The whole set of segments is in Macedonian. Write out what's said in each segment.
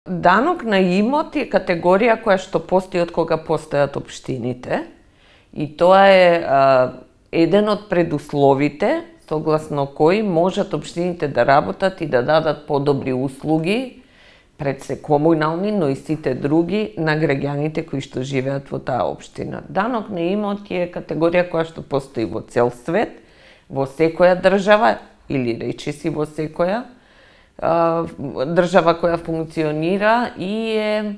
Данок на имот е категорија која што постои од кога постојат општините и тоа е еден од предусловите согласно кои можат општините да работат и да дадат подобри услуги пред се комунални, но и сите други на граѓаните кои што живеат во таа општина. Данок на имот е категорија која што постои во цел свет, во секоја држава или речиси во секоја држава која функционира и е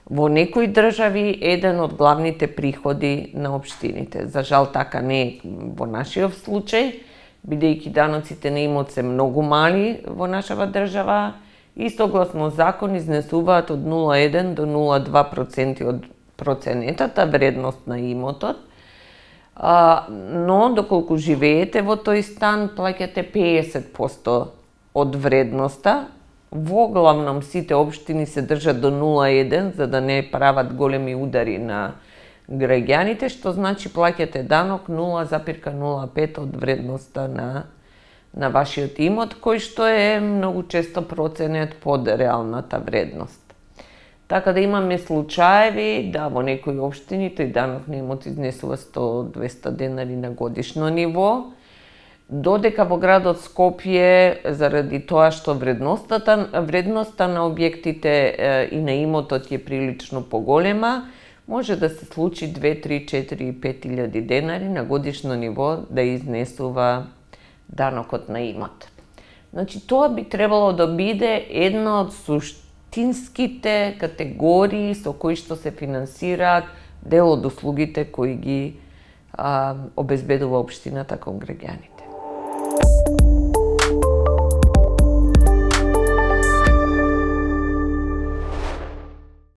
во некои држави еден од главните приходи на општините. За жал така не е во нашиот случај, бидејќи даноците на имот се многу мали во нашава држава и согласно закон изнесуваат од 0,1 до 0,2% од проценетата вредност на имотот, но доколку живеете во тој стан плаќате 50% од вредноста. Во главном сите општини се држат до 0,1 за да не прават големи удари на граѓаните, што значи плаќате данок 0,05 од вредноста на вашиот имот, кој што е многу често проценет под реалната вредност. Така да имаме случаеви да во некои општини тој данок на имот изнесува 100-200 денари на годишно ниво, додека во градот Скопје, заради тоа што вредноста на објектите и на имотот е прилично поголема, може да се случи 2, 3, 4, 5 илјади денари на годишно ниво да изнесува данокот на имот. Значи, тоа би требало да биде една од суштинските категории со кои што се финансираат дел од услугите кои ги обезбедува општината кон граѓаните.